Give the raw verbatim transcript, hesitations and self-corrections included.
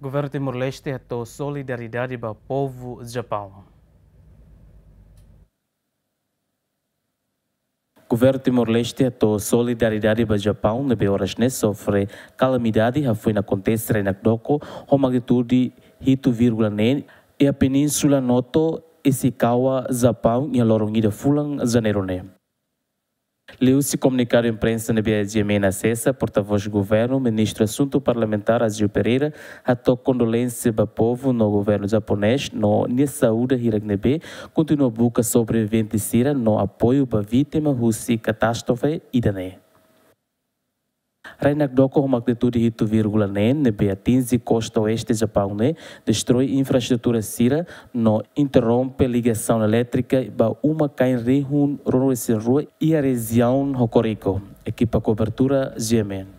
Governu Timor-Leste hato'o solidariedade ba povu Japaun. Governu Timor-Leste hato'o solidariedade ba Japaun ne'ebé oras ne'e sofre kalamidade hafoin akontese rai-nakdoko ho magnitude hitu vírgula neen iha península Noto, Ishikawa, Japaun, iha loron ida fulan Janeiru ne'e. Liuhusi komunikadu imprensa ne'ebé GMN asesa, portavós governu, ministru asuntu parlamentár Agio Pereira, hato'o kondolénsia ba povu no governu japonés no nia saúde hirak ne'ebé kontinua buka sobrevivente sira no apoiu ba vítima husi katástrofe ida-ne'e. Rai-nakdoko ho magnitude hitu vírgula neen ne'ebé atinje kosta oeste Japaun ne'e destroi infraestrutura sira no interrompe ligasaun elétrika ba uma-kain rihun ruanulu-resin-rua iha rejiaun Hokuriku. Ekipa kobertura GMN.